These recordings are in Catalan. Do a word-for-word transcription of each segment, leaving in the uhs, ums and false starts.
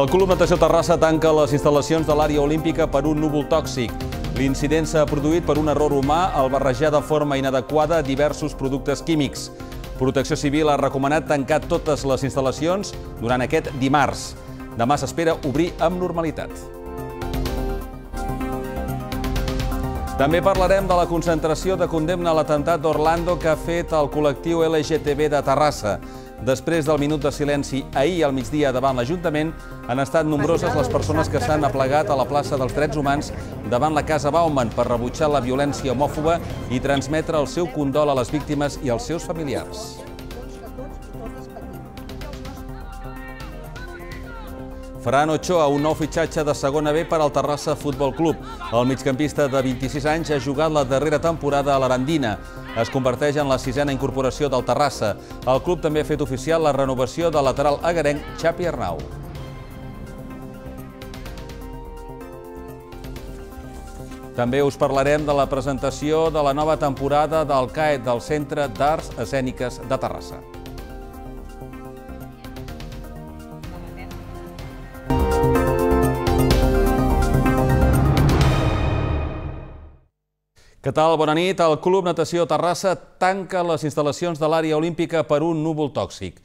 El Club Natació Terrassa tanca les instal·lacions de l'àrea olímpica per un núvol tòxic. L'incident s'ha produït per un error humà al barrejar de forma inadequada diversos productes químics. Protecció Civil ha recomanat tancar totes les instal·lacions durant aquest dimarts. Demà s'espera obrir amb normalitat. També parlarem de la concentració de condemna a l'atemptat d'Orlando que ha fet el col·lectiu L G T B de Terrassa. Després del minut de silenci ahir al migdia davant l'Ajuntament, han estat nombroses les persones que s'han aplegat a la plaça dels Drets Humans davant la Casa Bauman per rebutjar la violència homòfoba i transmetre el seu condol a les víctimes i als seus familiars. Ferran Ochoa, un nou fitxatge de segona B per al Terrassa Futbol Club. El migcampista de vint-i-sis anys ha jugat la darrera temporada a l'Arandina. Es converteix en la sisena incorporació del Terrassa. El club també ha fet oficial la renovació del lateral agarenc Xapi Arnau. També us parlarem de la presentació de la nova temporada del C A E T, del Centre d'Arts Escèniques de Terrassa. Què tal? Bona nit. El Club Natació Terrassa tanca les instal·lacions de l'àrea olímpica per un núvol tòxic.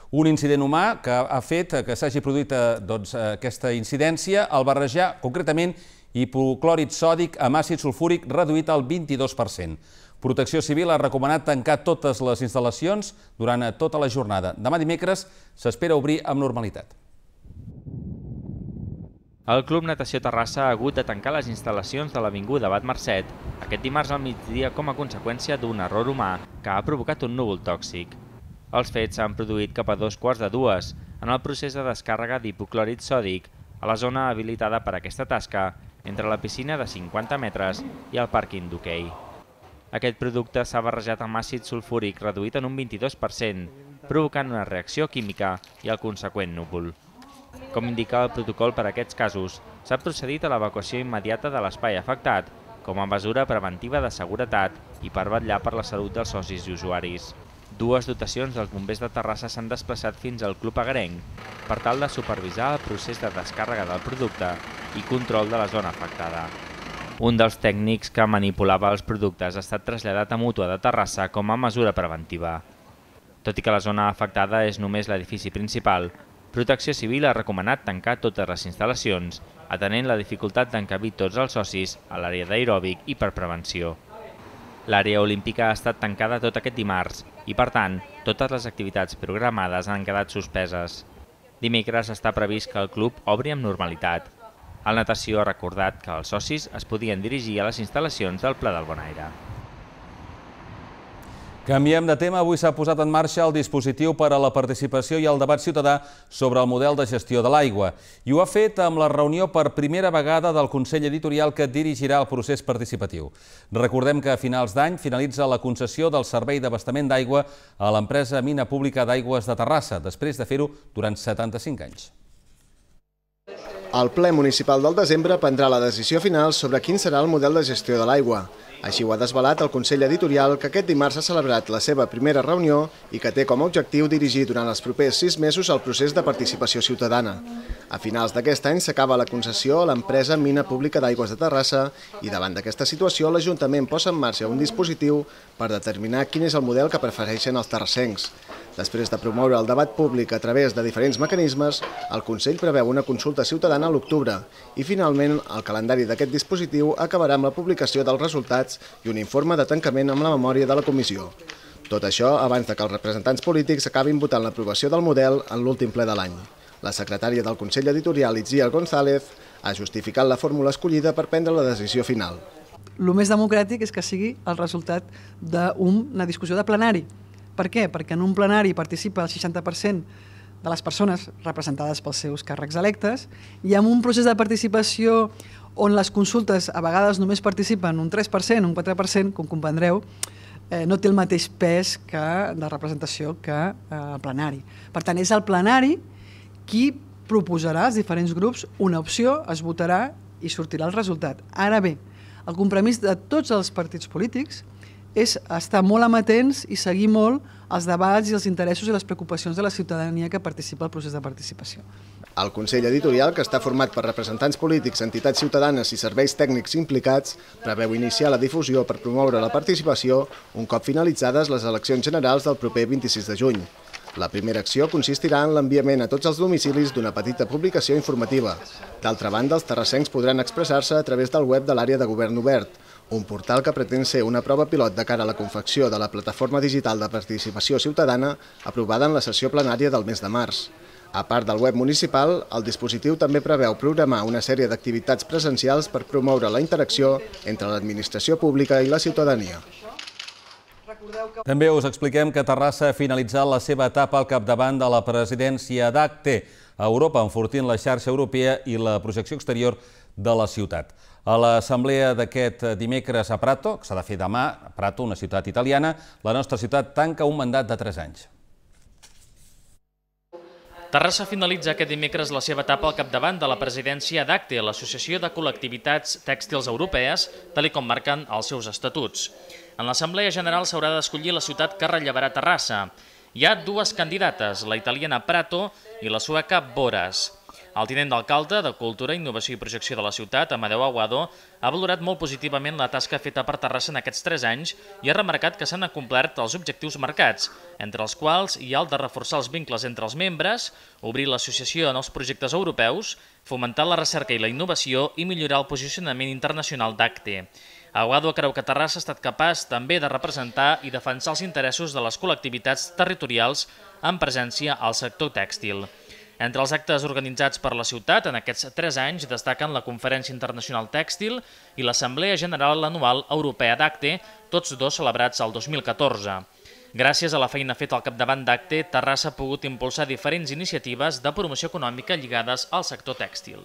Un incident humà que ha fet que s'hagi produït doncs, aquesta incidència al barrejar, concretament, hipoclòrid sòdic amb àcid sulfúric reduït al vint-i-dos per cent. Protecció Civil ha recomanat tancar totes les instal·lacions durant tota la jornada. Demà dimecres s'espera obrir amb normalitat. El Club Natació Terrassa ha hagut de tancar les instal·lacions de l'Avinguda Abat Marcet aquest dimarts al migdia com a conseqüència d'un error humà que ha provocat un núvol tòxic. Els fets s'han produït cap a dos quarts de dues en el procés de descàrrega d'hipoclòrid sòdic a la zona habilitada per a aquesta tasca entre la piscina de cinquanta metres i el pàrquing d'hoquei. Aquest producte s'ha barrejat amb àcid sulfúric reduït en un vint-i-dos per cent, provocant una reacció química i el conseqüent núvol. Com indica el protocol per a aquests casos, s'ha procedit a l'evacuació immediata de l'espai afectat com a mesura preventiva de seguretat i per vetllar per la salut dels socis i usuaris. Dues dotacions dels bombers de Terrassa s'han desplaçat fins al Club Agarenc per tal de supervisar el procés de descàrrega del producte i control de la zona afectada. Un dels tècnics que manipulava els productes ha estat traslladat a Mútua de Terrassa com a mesura preventiva. Tot i que la zona afectada és només l'edifici principal, Protecció Civil ha recomanat tancar totes les instal·lacions, atenent la dificultat d'encabir tots els socis a l'àrea d'aeròbic i per prevenció. L'àrea olímpica ha estat tancada tot aquest dimarts i, per tant, totes les activitats programades han quedat suspeses. Dimecres està previst que el club obri amb normalitat. El Natació ha recordat que els socis es podien dirigir a les instal·lacions del Pla del Bonaire. Canviem de tema. Avui s'ha posat en marxa el dispositiu per a la participació i el debat ciutadà sobre el model de gestió de l'aigua. I ho ha fet amb la reunió per primera vegada del Consell Editorial que dirigirà el procés participatiu. Recordem que a finals d'any finalitza la concessió del servei d'abastament d'aigua a l'empresa Mina Pública d'Aigües de Terrassa, després de fer-ho durant setanta-cinc anys. El ple municipal del desembre prendrà la decisió final sobre quin serà el model de gestió de l'aigua. Així ho ha desvelat el Consell Editorial, que aquest dimarts ha celebrat la seva primera reunió i que té com a objectiu dirigir durant els propers sis mesos el procés de participació ciutadana. A finals d'aquest any s'acaba la concessió a l'empresa Mina Pública d'Aigües de Terrassa i davant d'aquesta situació l'Ajuntament posa en marxa un dispositiu per determinar quin és el model que prefereixen els terrassencs. Després de promoure el debat públic a través de diferents mecanismes, el Consell preveu una consulta ciutadana a l'octubre i, finalment, el calendari d'aquest dispositiu acabarà amb la publicació dels resultats i un informe de tancament amb la memòria de la comissió. Tot això abans de que els representants polítics acabin votant l'aprovació del model en l'últim ple de l'any. La secretària del Consell Editorial, Itziar González, ha justificat la fórmula escollida per prendre la decisió final. El més democràtic és que sigui el resultat d'una discussió de plenari. Per què? Perquè en un plenari participa el seixanta per cent de les persones representades pels seus càrrecs electes i en un procés de participació on les consultes a vegades només participen un tres per cent, un quatre per cent, com comprendreu, eh, no té el mateix pes que de representació que eh, el plenari. Per tant, és el plenari qui proposarà als diferents grups una opció, es votarà i sortirà el resultat. Ara bé, el compromís de tots els partits polítics és estar molt amatents i seguir molt els debats i els interessos i les preocupacions de la ciutadania que participa al procés de participació. El Consell Editorial, que està format per representants polítics, entitats ciutadanes i serveis tècnics implicats, preveu iniciar la difusió per promoure la participació un cop finalitzades les eleccions generals del proper vint-i-sis de juny. La primera acció consistirà en l'enviament a tots els domicilis d'una petita publicació informativa. D'altra banda, els terrassencs podran expressar-se a través del web de l'àrea de govern obert, un portal que pretén ser una prova pilot de cara a la confecció de la plataforma digital de participació ciutadana aprovada en la sessió plenària del mes de març. A part del web municipal, el dispositiu també preveu programar una sèrie d'activitats presencials per promoure la interacció entre l'administració pública i la ciutadania. També us expliquem que Terrassa ha finalitzat la seva etapa al capdavant de la presidència d'Acte a Europa, enfortint la xarxa europea i la projecció exterior de la ciutat. A l'assemblea d'aquest dimecres a Prato, que s'ha de fer demà, a Prato, una ciutat italiana, la nostra ciutat tanca un mandat de tres anys. Terrassa finalitza aquest dimecres la seva etapa al capdavant de la presidència d'Acte, l'Associació de Col·lectivitats Tèxtils Europees, tal com marquen els seus estatuts. En l'Assemblea General s'haurà d'escollir la ciutat que rellevarà Terrassa. Hi ha dues candidates, la italiana Prato i la sueca Boras. El tinent d'alcalde de Cultura, Innovació i Projecció de la ciutat, Amadeu Aguado, ha valorat molt positivament la tasca feta per Terrassa en aquests tres anys i ha remarcat que s'han acomplert els objectius marcats, entre els quals hi ha el de reforçar els vincles entre els membres, obrir l'associació en els projectes europeus, fomentar la recerca i la innovació i millorar el posicionament internacional d'Acte. Aguado creu que Terrassa ha estat capaç també de representar i defensar els interessos de les col·lectivitats territorials amb presència al sector tèxtil. Entre els actes organitzats per la ciutat en aquests tres anys destaquen la Conferència Internacional Tèxtil i l'Assemblea General Anual Europea d'Acte, tots dos celebrats el dos mil catorze. Gràcies a la feina feta al capdavant d'Acte, Terrassa ha pogut impulsar diferents iniciatives de promoció econòmica lligades al sector tèxtil.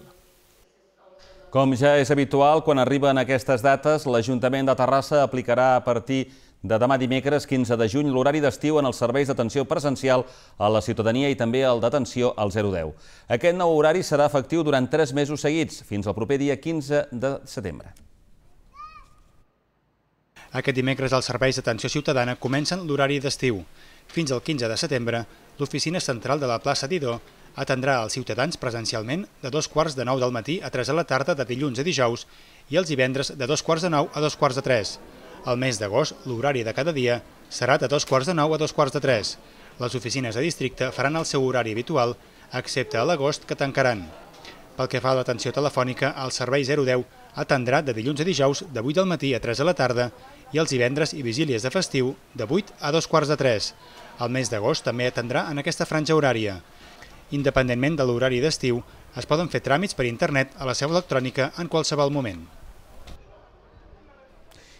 Com ja és habitual, quan arriben aquestes dates, l'Ajuntament de Terrassa aplicarà a partir de demà dimecres quinze de juny l'horari d'estiu en els serveis d'atenció presencial a la ciutadania i també el d'atenció al zero deu. Aquest nou horari serà efectiu durant tres mesos seguits, fins al proper dia quinze de setembre. Aquest dimecres els serveis d'atenció ciutadana comencen l'horari d'estiu. Fins al quinze de setembre, l'oficina central de la plaça Didó atendrà els ciutadans presencialment de dos quarts de nou del matí a tres de la tarda de dilluns a dijous i els divendres de dos quarts de nou a dos quarts de tres. Al mes d'agost, l'horari de cada dia serà de dos quarts de nou a dos quarts de tres. Les oficines de districte faran el seu horari habitual, excepte a l'agost, que tancaran. Pel que fa a l'atenció telefònica, el servei zero deu atendrà de dilluns a dijous de vuit del matí a tres de la tarda i els divendres i vigílies de festiu de vuit a dos quarts de tres. El mes d'agost també atendrà en aquesta franja horària. Independentment de l'horari d'estiu, es poden fer tràmits per internet a la seu electrònica en qualsevol moment.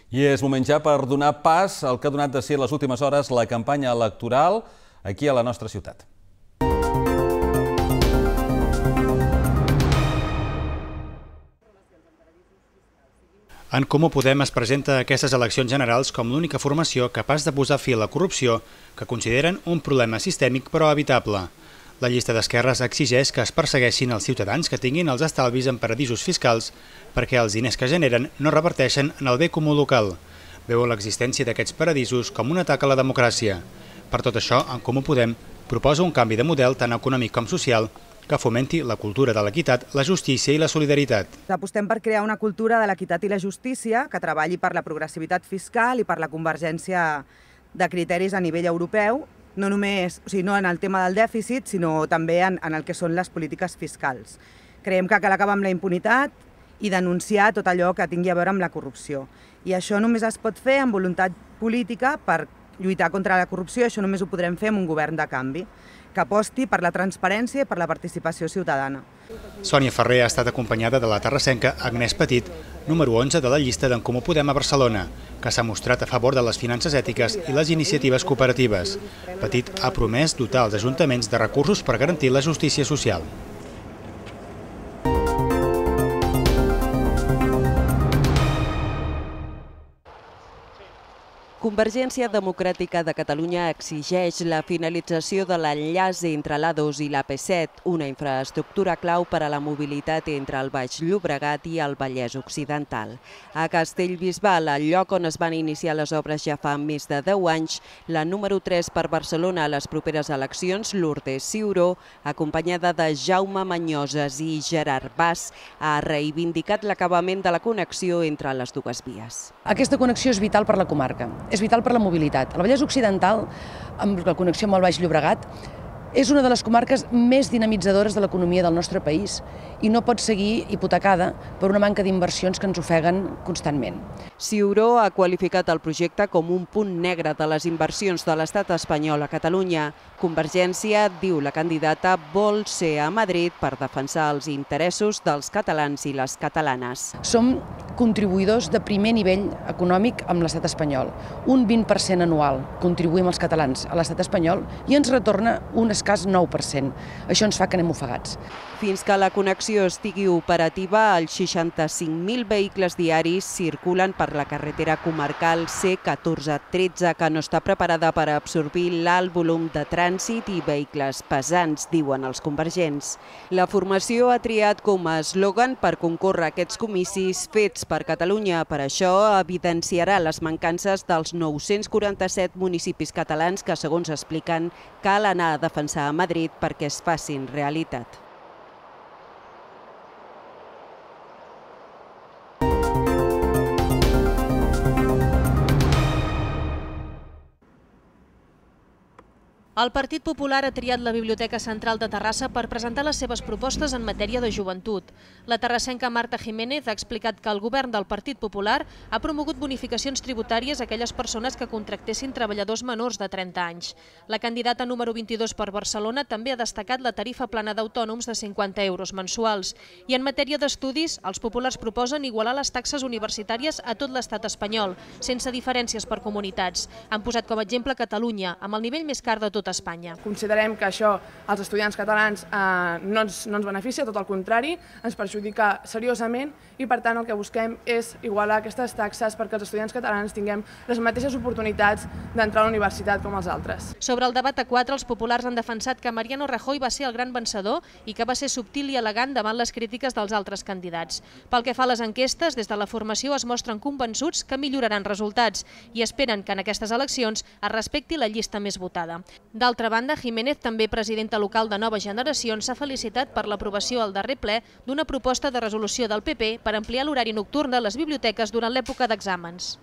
I és moment ja per donar pas al que ha donat de ser les últimes hores la campanya electoral aquí a la nostra ciutat. En Comú Podem es presenta a aquestes eleccions generals com l'única formació capaç de posar fi a la corrupció que consideren un problema sistèmic però evitable. La llista d'esquerres exigeix que es persegueixin els ciutadans que tinguin els estalvis en paradisos fiscals perquè els diners que generen no reverteixen en el bé comú local. Veuen l'existència d'aquests paradisos com un atac a la democràcia. Per tot això, en Comú Podem proposa un canvi de model tant econòmic com social que fomenti la cultura de l'equitat, la justícia i la solidaritat. Apostem per crear una cultura de l'equitat i la justícia que treballi per la progressivitat fiscal i per la convergència de criteris a nivell europeu, no només, o sigui, no en el tema del dèficit, sinó també en, en el que són les polítiques fiscals. Creiem que cal acabar amb la impunitat i denunciar tot allò que tingui a veure amb la corrupció. I això només es pot fer amb voluntat política per lluitar contra la corrupció, i això només ho podrem fer amb un govern de canvi, que aposti per la transparència i per la participació ciutadana. Sònia Ferrer ha estat acompanyada de la terrassenca Agnès Petit, número onze de la llista d'en Comú Podem a Barcelona, que s'ha mostrat a favor de les finances ètiques i les iniciatives cooperatives. Petit ha promès dotar els ajuntaments de recursos per garantir la justícia social. Convergència Democràtica de Catalunya exigeix la finalització de l'enllaç entre l'A dos i l'A P set, una infraestructura clau per a la mobilitat entre el Baix Llobregat i el Vallès Occidental. A Castellbisbal, al lloc on es van iniciar les obres ja fa més de deu anys, la número tres per Barcelona a les properes eleccions, Lourdes Ciuró, acompanyada de Jaume Manyoses i Gerard Bas, ha reivindicat l'acabament de la connexió entre les dues vies. Aquesta connexió és vital per la comarca. És vital per la mobilitat. El Vallès Occidental, amb la connexió amb el Baix Llobregat, és una de les comarques més dinamitzadores de l'economia del nostre país i no pot seguir hipotecada per una manca d'inversions que ens ofeguen constantment. Ciuró ha qualificat el projecte com un punt negre de les inversions de l'estat espanyol a Catalunya. Convergència, diu la candidata, vol ser a Madrid per defensar els interessos dels catalans i les catalanes. Som contribuïdors de primer nivell econòmic amb l'estat espanyol. Un vint per cent anual contribuïm els catalans a l'estat espanyol i ens retorna un escàs nou per cent. Això ens fa que anem ofegats. Fins que la connexió estigui operativa, els seixanta-cinc mil vehicles diaris circulen per la carretera comarcal C catorze tretze, que no està preparada per absorbir l'alt volum de trànsit i vehicles pesants, diuen els convergents. La formació ha triat com a eslògan per concórrer a aquests comicis fets per Catalunya. Per això evidenciarà les mancances dels nou-cents quaranta-set municipis catalans que, segons expliquen, cal anar a defensar a Madrid perquè es facin realitat. El Partit Popular ha triat la Biblioteca Central de Terrassa per presentar les seves propostes en matèria de joventut. La terrassenca Marta Jiménez ha explicat que el govern del Partit Popular ha promogut bonificacions tributàries a aquelles persones que contractessin treballadors menors de trenta anys. La candidata número vint-i-dos per Barcelona també ha destacat la tarifa plana d'autònoms de cinquanta euros mensuals. I en matèria d'estudis, els populars proposen igualar les taxes universitàries a tot l'estat espanyol, sense diferències per comunitats. Han posat com a exemple Catalunya, amb el nivell més car de tot Espanya. Considerem que això als estudiants catalans eh, no, ens, no ens beneficia, tot el contrari, ens perjudica seriosament i per tant el que busquem és igualar aquestes taxes perquè els estudiants catalans tinguem les mateixes oportunitats d'entrar a la universitat com els altres. Sobre el debat a quatre, els populars han defensat que Mariano Rajoy va ser el gran vencedor i que va ser subtil i elegant davant les crítiques dels altres candidats. Pel que fa a les enquestes, des de la formació es mostren convençuts que milloraran resultats i esperen que en aquestes eleccions es respecti la llista més votada. D'altra banda, Jiménez, també presidenta local de Noves Generacions, s'ha felicitat per l'aprovació al darrer ple d'una proposta de resolució del P P per ampliar l'horari nocturn de les biblioteques durant l'època d'exàmens.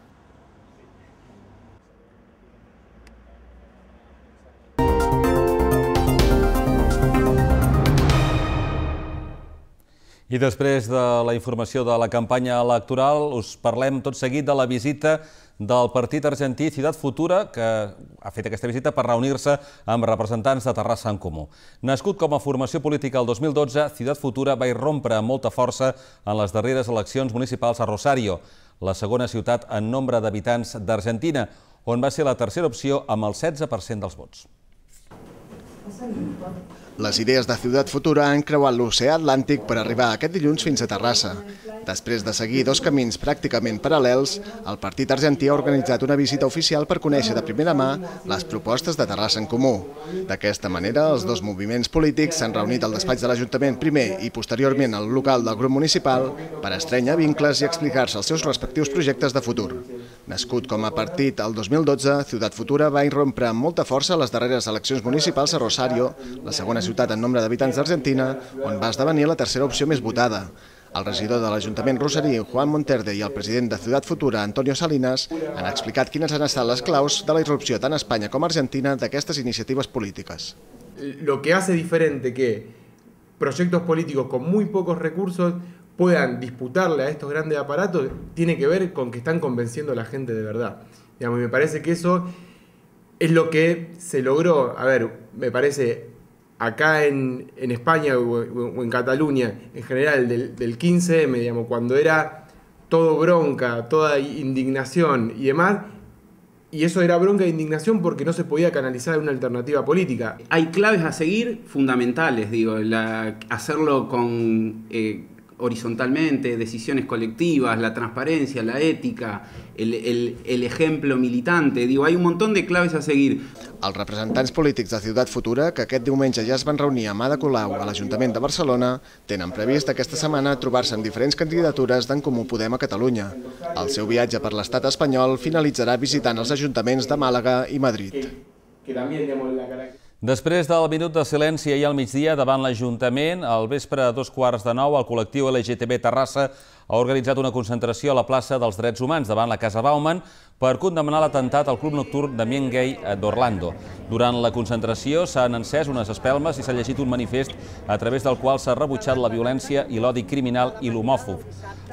I després de la informació de la campanya electoral, us parlem tot seguit de la visita del partit argentí Ciutat Futura, que ha fet aquesta visita per reunir-se amb representants de Terrassa en Comú. Nascut com a formació política el dos mil dotze, Ciutat Futura va irrompre amb molta força en les darreres eleccions municipals a Rosario, la segona ciutat en nombre d'habitants d'Argentina, on va ser la tercera opció amb el setze per cent dels vots. Les idees de Ciutat Futura han creuat l'oceà Atlàntic per arribar aquest dilluns fins a Terrassa. Després de seguir dos camins pràcticament paral·lels, el partit argentí ha organitzat una visita oficial per conèixer de primera mà les propostes de Terrassa en Comú. D'aquesta manera, els dos moviments polítics s'han reunit al despatx de l'Ajuntament primer i posteriorment al local del grup municipal per estrènyer vincles i explicar-se els seus respectius projectes de futur. Nascut com a partit el dos mil dotze, Ciutat Futura va irrompre amb molta força a les darreres eleccions municipals a Rosario, la segona ciutat en nombre d'habitants d'Argentina, on va esdevenir la tercera opció més votada. El regidor de l'Ajuntament rosarí, Juan Monterde, i el president de Ciutat Futura, Antonio Salinas, han explicat quines han estat les claus de la irrupció tant a Espanya com a Argentina d'aquestes iniciatives políticas. Lo que hace diferente que proyectos políticos con muy pocos recursos puedan disputarle a estos grandes aparatos tiene que ver con que están convenciendo a la gente de verdad. Digamos, me parece que eso es lo que se logró, a ver, me parece, acá en, en España o, o en Cataluña, en general del, del quince eme, digamos, cuando era todo bronca, toda indignación y demás, y eso era bronca e indignación porque no se podía canalizar una alternativa política. Hay claves a seguir fundamentales, digo, la, hacerlo con... Eh, horizontalmente, decisiones colectivas, la transparencia, la ética, el, el, el ejemplo militante. Digo, hay un montón de claves a seguir. Els representants polítics de Ciutat Futura, que aquest diumenge ja es van reunir a Ada Colau a l'Ajuntament de Barcelona, tenen previst aquesta setmana trobar-se en diferents candidatures d'en Comú Podem a Catalunya. El seu viatge per l'estat espanyol finalitzarà visitant els ajuntaments de Màlaga i Madrid. Després del minut de silenci ahir al migdia davant l'Ajuntament, al vespre a dos quarts de nou, el col·lectiu L G T B Terrassa ha organitzat una concentració a la plaça dels Drets Humans davant la Casa Bauman per condemnar l'atemptat al club nocturn d'ambient gay d'Orlando. Durant la concentració s'han encès unes espelmes i s'ha llegit un manifest a través del qual s'ha rebutjat la violència i l'odi criminal i l'homòfob.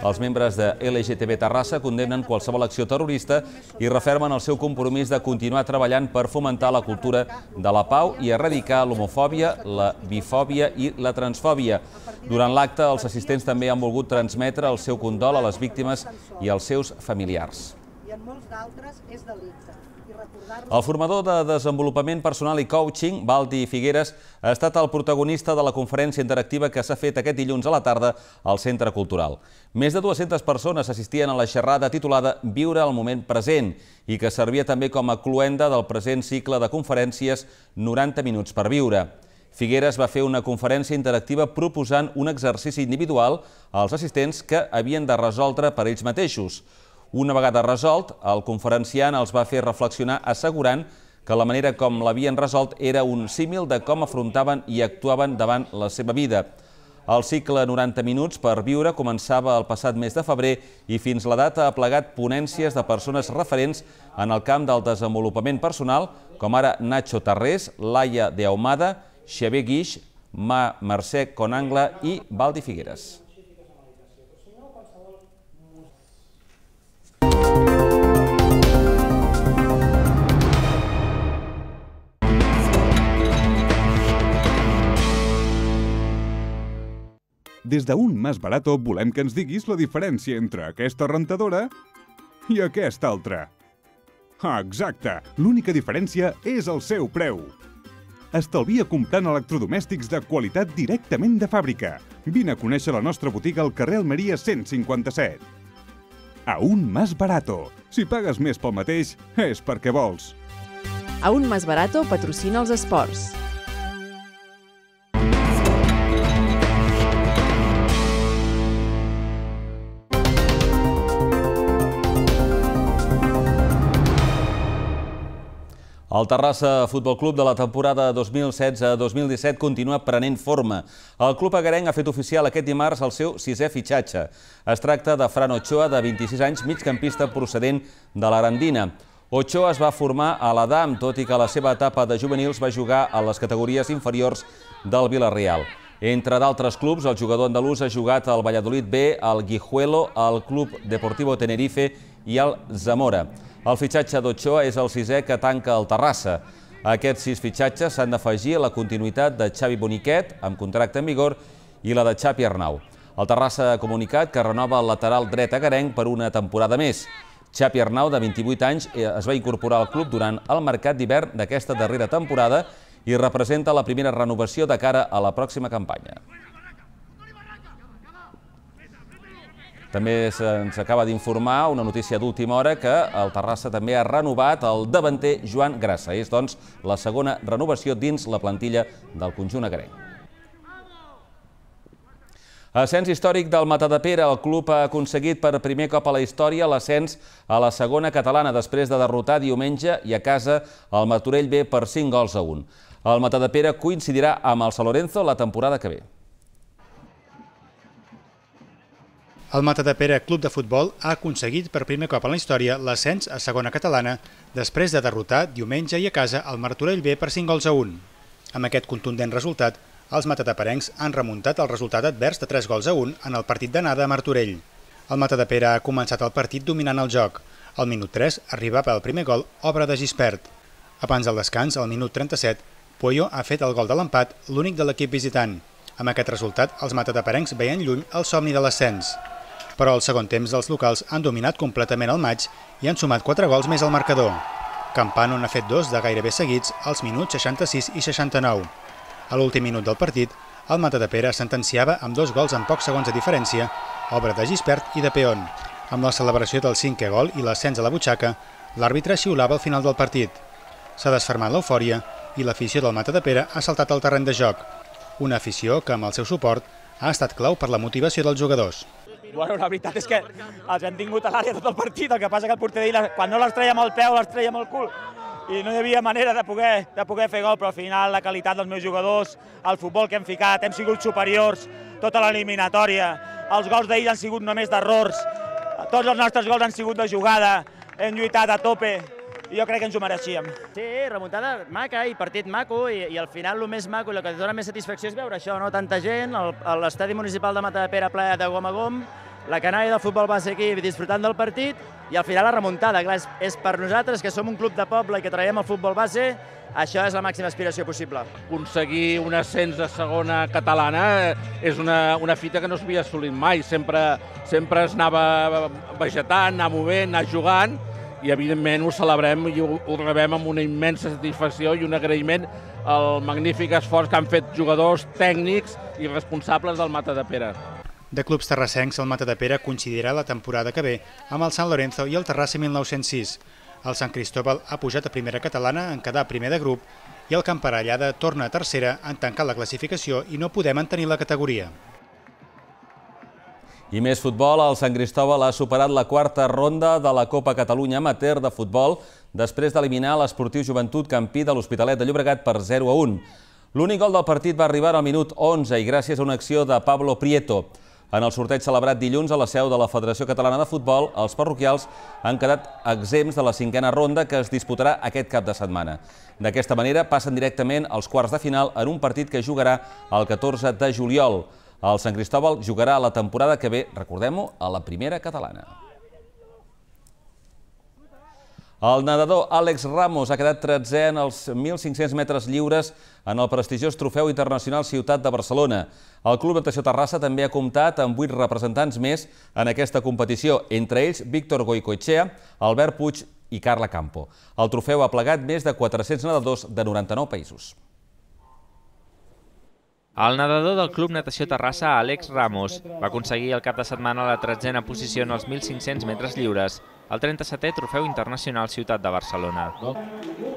Els membres de L G T B Terrassa condemnen qualsevol acció terrorista i refermen el seu compromís de continuar treballant per fomentar la cultura de la pau i erradicar l'homofòbia, la bifòbia i la transfòbia. Durant l'acte, els assistents també han volgut transmetre el seu condol a les víctimes i als seus familiars. I en molts d'altres és delicte. El formador de desenvolupament personal i coaching, Valdi Figueres, ha estat el protagonista de la conferència interactiva que s'ha fet aquest dilluns a la tarda al Centre Cultural. Més de dues-centes persones assistien a la xerrada titulada Viure el moment present i que servia també com a cloenda del present cicle de conferències noranta minuts per viure. Figueres va fer una conferència interactiva proposant un exercici individual als assistents que havien de resoldre per ells mateixos. Una vegada resolt, el conferenciant els va fer reflexionar assegurant que la manera com l'havien resolt era un símil de com afrontaven i actuaven davant la seva vida. El cicle noranta minuts per viure començava el passat mes de febrer i fins la data ha plegat ponències de persones referents en el camp del desenvolupament personal, com ara Nacho Tarrés, Laia de Ahumada, Xavier Guix, Ma Mercè Conangla i Valdi Figueres. Des d'Un Más Barato volem que ens diguis la diferència entre aquesta rentadora i aquesta altra. Ah, exacte! L'única diferència és el seu preu. Estalvia comprant electrodomèstics de qualitat directament de fàbrica. Vine a conèixer la nostra botiga al carrer Almeria cent cinquanta-set. Aún Más Barato. Si pagues més pel mateix, és perquè vols. Aún Más Barato patrocina els esports. El Terrassa Futbol Club de la temporada dos mil setze dos mil disset continua prenent forma. El club agarenc ha fet oficial aquest dimarts el seu sisè fitxatge. Es tracta de Fran Ochoa, de vint-i-sis anys, migcampista procedent de l'Arandina. Ochoa es va formar a l'Adam, tot i que a la seva etapa de juvenils va jugar a les categories inferiors del Villarreal. Entre d'altres clubs, el jugador andalús ha jugat al Valladolid B, al Guijuelo, al Club Deportivo Tenerife i al Zamora. El fitxatge d'Ochoa és el sisè que tanca el Terrassa. Aquests sis fitxatges s'han d'afegir a la continuïtat de Xavi Boniquet, amb contracte en vigor, i la de Xapi Arnau. El Terrassa ha comunicat que renova el lateral dret agarenc per una temporada més. Xapi Arnau, de vint-i-vuit anys, es va incorporar al club durant el mercat d'hivern d'aquesta darrera temporada i representa la primera renovació de cara a la pròxima campanya. També se'ns acaba d'informar una notícia d'última hora que el Terrassa també ha renovat el davanter Joan Grassa. És, doncs, la segona renovació dins la plantilla del conjunt agarenc. Ascens històric del Matadepera. El club ha aconseguit per primer cop a la història l'ascens a la segona catalana després de derrotar diumenge i a casa el Martorell B per cinc gols a un. El Matadepera coincidirà amb el San Lorenzo la temporada que ve. El Matadepera Club de Futbol ha aconseguit per primer cop en la història l'ascens a segona catalana després de derrotar diumenge i a casa el Martorell B per cinc gols a un. Amb aquest contundent resultat, els matadeperencs han remuntat el resultat advers de tres gols a un en el partit d'anada a Martorell. El Matadepera ha començat el partit dominant el joc. Al minut tres arribava el primer gol, obra de Gispert. Abans del descans, al minut trenta-set, Pueyo ha fet el gol de l'empat, l'únic de l'equip visitant. Amb aquest resultat, els matadeperencs veien lluny el somni de l'ascens. Però al segon temps els locals han dominat completament el maig i han sumat quatre gols més al marcador. Campano n'ha fet dos de gairebé seguits als minuts seixanta-sis i seixanta-nou. A l'últim minut del partit, El Matadepera sentenciava amb dos gols en pocs segons de diferència, obra de Gispert i de Peón. Amb la celebració del cinquè gol i l'ascens a la butxaca, l'àrbitre xiulava al final del partit. S'ha desfermat l'eufòria i l'afició del Matadepera ha saltat al terreny de joc. Una afició que, amb el seu suport, ha estat clau per la motivació dels jugadors. Bueno, la veritat és que els hem tingut a l'àrea tot el partit, el que passa que el porter d'ahir, quan no les treia amb el peu, les treia amb el cul. I no hi havia manera de poder, de poder fer gol, però al final la qualitat dels meus jugadors, el futbol que hem ficat, hem sigut superiors, tota l'eliminatòria. Els gols d'ahir han sigut només d'errors, tots els nostres gols han sigut de jugada, hem lluitat a tope, i jo crec que ens ho mereixíem. Sí, remuntada maca i partit maco, i, i al final el més maco i el que dona més satisfacció és veure això, no? Tanta gent, l'estadi municipal de Matadepera ple de gom a gom, la canalla del futbol base aquí disfrutant del partit, i al final la remuntada. Clar, és, és per nosaltres, que som un club de poble i que traiem el futbol base, això és la màxima aspiració possible. Aconseguir un ascens de segona catalana és una, una fita que no s'havia assolit mai. Sempre, sempre es anava vegetant, anar movent, anar jugant, i evidentment ho celebrem i ho, ho rebem amb una immensa satisfacció i un agraïment al magnífic esforç que han fet jugadors, tècnics i responsables del Matadepera. De clubs terrassencs, el Matadepera coincidirà la temporada que ve amb el Sant Lorenzo i el Terrassa mil nou-cents sis. El Sant Cristóbal ha pujat a primera catalana en quedar primer de grup i el Camparallada torna a tercera en tancar la classificació i no poder mantenir la categoria. I més futbol, el Sant Cristóbal ha superat la quarta ronda de la Copa Catalunya Amateur de futbol després d'eliminar l'Esportiu Joventut Campí de l'Hospitalet de Llobregat per zero a un. L'únic gol del partit va arribar al minut onze i gràcies a una acció de Pablo Prieto. En el sorteig celebrat dilluns a la seu de la Federació Catalana de Futbol, els parroquials han quedat exempts de la cinquena ronda que es disputarà aquest cap de setmana. D'aquesta manera passen directament als quarts de final en un partit que jugarà el catorze de juliol. El Sant Cristóbal jugarà la temporada que ve, recordem-ho, a la primera catalana. El nedador Àlex Ramos ha quedat tretzè en els mil cinc-cents metres lliures en el prestigiós Trofeu Internacional Ciutat de Barcelona. El Club Natació Terrassa també ha comptat amb vuit representants més en aquesta competició, entre ells Víctor Goicoechea, Albert Puig i Carla Campo. El trofeu ha plegat més de quatre-cents nedadors de noranta-nou països. El nedador del Club Natació Terrassa, Àlex Ramos, va aconseguir el cap de setmana la tretzena posició en els mil cinc-cents metres lliures, el trenta-setè Trofeu Internacional Ciutat de Barcelona.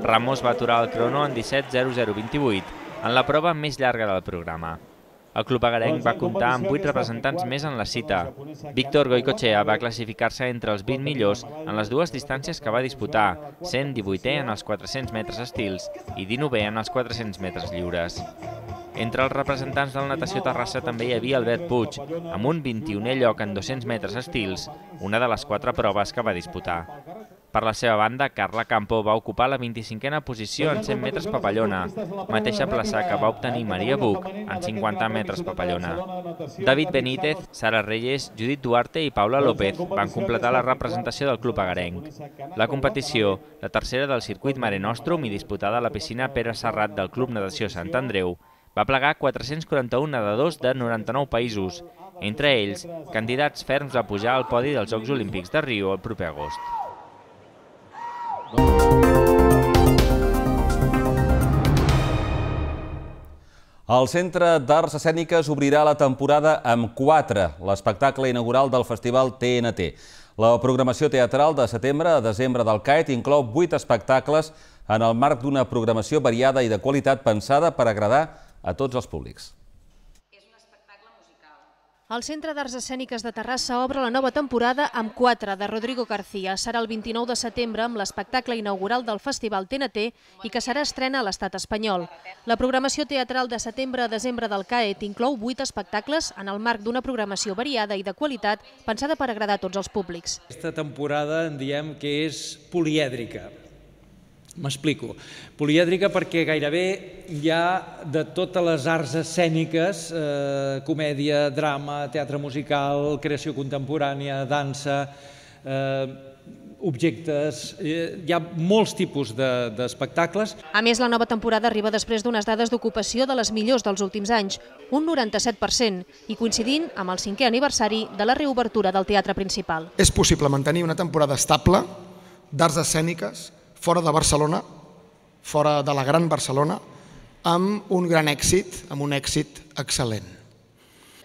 Ramos va aturar el crono en disset zero zero vint-i-vuit, en la prova més llarga del programa. El club agarenc va comptar amb vuit representants més en la cita. Víctor Goicoechea va classificar-se entre els vint millors en les dues distàncies que va disputar, sent divuitè en els quatre-cents metres estils i dinovè en els quatre-cents metres lliures. Entre els representants del Natació Terrassa també hi havia Albert Puig, amb un vint-i-unè lloc en dos-cents metres estils, una de les quatre proves que va disputar. Per la seva banda, Carla Campo va ocupar la vint-i-cinquena posició en cent metres papallona, mateixa plaça que va obtenir Maria Buch en cinquanta metres papallona. David Benítez, Sara Reyes, Judit Duarte i Paula López van completar la representació del club agarenc. La competició, la tercera del circuit Mare Nostrum i disputada a la piscina Pere Serrat del Club Natació Sant Andreu, va plegar quatre-cents quaranta-un nedadors de noranta-nou països, entre ells candidats ferms a pujar al podi dels Jocs Olímpics de Rio el proper agost. El Centre d'Arts Escèniques obrirà la temporada amb quatre, l'espectacle inaugural del Festival T N T. La programació teatral de setembre a desembre del C A E T inclou vuit espectacles en el marc d'una programació variada i de qualitat pensada per agradar a tots els públics. El Centre d'Arts Escèniques de Terrassa obre la nova temporada amb quatre de Rodrigo García. Serà el vint-i-nou de setembre amb l'espectacle inaugural del Festival T N T i que serà estrena a l'estat espanyol. La programació teatral de setembre a desembre del C A E T inclou vuit espectacles en el marc d'una programació variada i de qualitat pensada per agradar a tots els públics. Aquesta temporada en diem que és polièdrica. M'explico. Polièdrica perquè gairebé hi ha de totes les arts escèniques, eh, comèdia, drama, teatre musical, creació contemporània, dansa, eh, objectes, eh, hi ha molts tipus d'espectacles. A més, la nova temporada arriba després d'unes dades d'ocupació de les millors dels últims anys, un noranta-set per cent, i coincidint amb el cinquè aniversari de la reobertura del teatre principal. És possible mantenir una temporada estable d'arts escèniques fora de Barcelona, fora de la gran Barcelona, amb un gran èxit, amb un èxit excel·lent.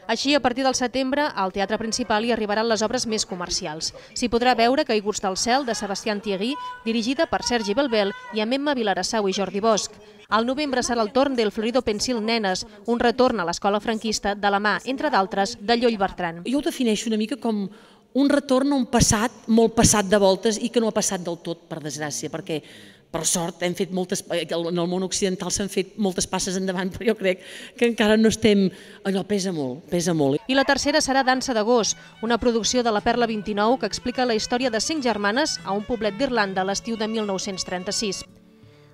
Així, a partir del setembre, al Teatre Principal hi arribaran les obres més comercials. S'hi podrà veure Caiguts del cel, de Sebastián Thierry, dirigida per Sergi Belbel i amb Emma Vilarassau i Jordi Bosch. Al novembre serà el torn del Florido Pensil Nenes, un retorn a l'escola franquista de la mà, entre d'altres, de Llull Bertran. Jo ho defineixo una mica com un retorn a un passat molt passat de voltes i que no ha passat del tot, per desgràcia, perquè per sort hem fet moltes, en el món occidental s'han fet moltes passes endavant, però jo crec que encara no estem, allò pesa molt, pesa molt. I la tercera serà Dansa de gos, una producció de la Perla vint-i-nou que explica la història de cinc germanes a un poblet d'Irlanda a l'estiu de mil nou-cents trenta-sis.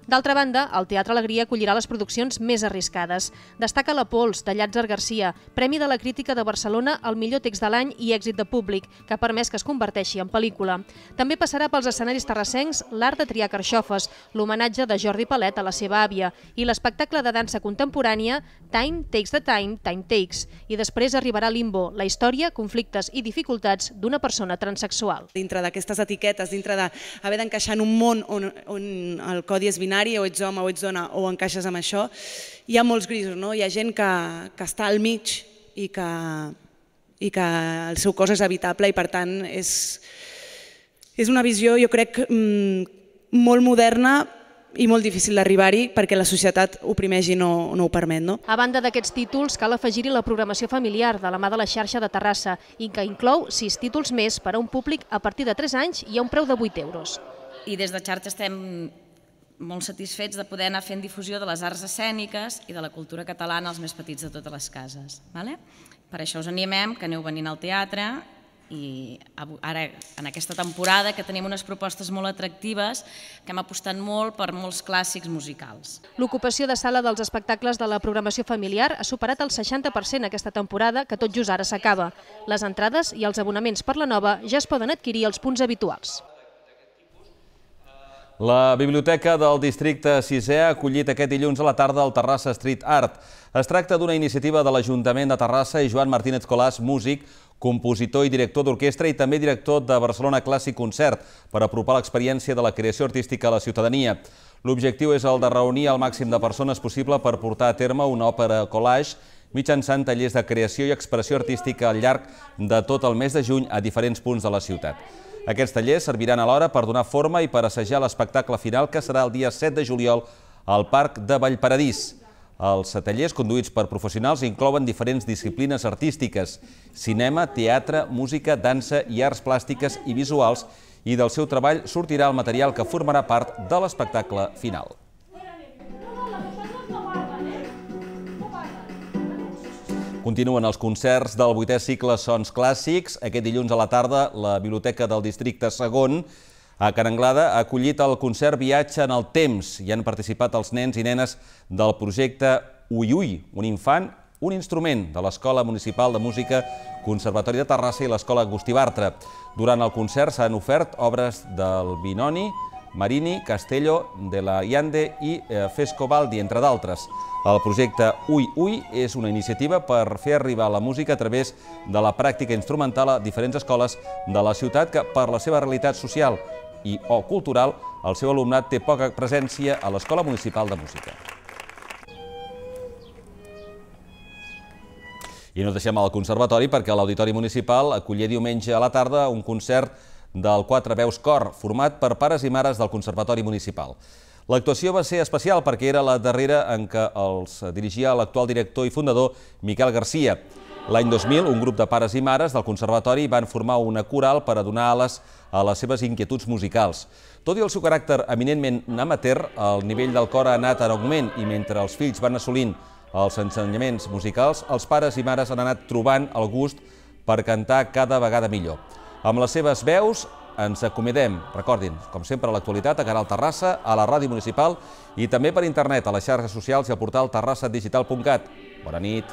D'altra banda, el Teatre Alegria acollirà les produccions més arriscades. Destaca La Pols, de Llàtzer Garcia, Premi de la Crítica de Barcelona al millor text de l'any i èxit de públic, que ha permès que es converteixi en pel·lícula. També passarà pels escenaris terrassencs L'art de triar carxofes, l'homenatge de Jordi Palet a la seva àvia, i l'espectacle de dansa contemporània Time Takes the Time, Time Takes. I després arribarà Limbo, la història, conflictes i dificultats d'una persona transsexual. Dintre d'aquestes etiquetes, dintre d'haver d'encaixar en un món on el codi és binari, o ets home o ets dona o encaixes amb això, hi ha molts grisos, no? Hi ha gent que, que està al mig i que, i que el seu cos és habitable i per tant és, és una visió, jo crec, molt moderna i molt difícil d'arribar-hi perquè la societat oprimeix i no, no ho permet. No? A banda d'aquests títols, cal afegir-hi la programació familiar de la mà de la xarxa de Terrassa i que inclou sis títols més per a un públic a partir de tres anys i a un preu de vuit euros. I des de xarxa estem molt satisfets de poder anar fent difusió de les arts escèniques i de la cultura catalana als més petits de totes les cases. Per això us animem que aneu venint al teatre i ara en aquesta temporada que tenim unes propostes molt atractives que hem apostat molt per molts clàssics musicals. L'ocupació de sala dels espectacles de la programació familiar ha superat el seixanta per cent aquesta temporada que tot just ara s'acaba. Les entrades i els abonaments per la nova ja es poden adquirir als punts habituals. La Biblioteca del Districte sisè ha acollit aquest dilluns a la tarda el Terrassa Street Art. Es tracta d'una iniciativa de l'Ajuntament de Terrassa i Joan Martínez Colàs, músic, compositor i director d'orquestra i també director de Barcelona Clàssic Concert, per apropar l'experiència de la creació artística a la ciutadania. L'objectiu és el de reunir el màxim de persones possible per portar a terme una òpera collage mitjançant tallers de creació i expressió artística al llarg de tot el mes de juny a diferents punts de la ciutat. Aquests tallers serviran alhora per donar forma i per assajar l'espectacle final que serà el dia set de juliol al Parc de Vallparadís. Els tallers, conduïts per professionals, inclouen diferents disciplines artístiques: cinema, teatre, música, dansa i arts plàstiques i visuals, i del seu treball sortirà el material que formarà part de l'espectacle final. Continuen els concerts del vuitè cicle Sons Clàssics. Aquest dilluns a la tarda, la Biblioteca del Districte segon, a Can Anglada, ha acollit el concert Viatge en el temps. Hi han participat els nens i nenes del projecte Ui Ui, un infant, un instrument de l'Escola Municipal de Música, Conservatori de Terrassa i l'Escola Agustí Bartra. Durant el concert s'han ofert obres del Binoni, Marini, Castello, de la Iande i Fescobaldi, entre d'altres. El projecte Ui Ui és una iniciativa per fer arribar la música a través de la pràctica instrumental a diferents escoles de la ciutat que, per la seva realitat social i o cultural, el seu alumnat té poca presència a l'Escola Municipal de Música. I no deixem al Conservatori perquè l'Auditori Municipal acollia diumenge a la tarda un concert del Quatre Veus Cor, format per pares i mares del Conservatori Municipal. L'actuació va ser especial perquè era la darrera en què els dirigia l'actual director i fundador Miquel Garcia. L'any dos mil, un grup de pares i mares del Conservatori van formar una coral per a donar ales a les seves inquietuds musicals. Tot i el seu caràcter eminentment amateur, el nivell del cor ha anat en augment i mentre els fills van assolint els ensenyaments musicals, els pares i mares han anat trobant el gust per cantar cada vegada millor. Amb les seves veus ens acomidem, recordin, com sempre a l'actualitat, a Canal Terrassa, a la ràdio municipal i també per internet, a les xarxes socials i al portal terrassa digital punt cat. Bona nit.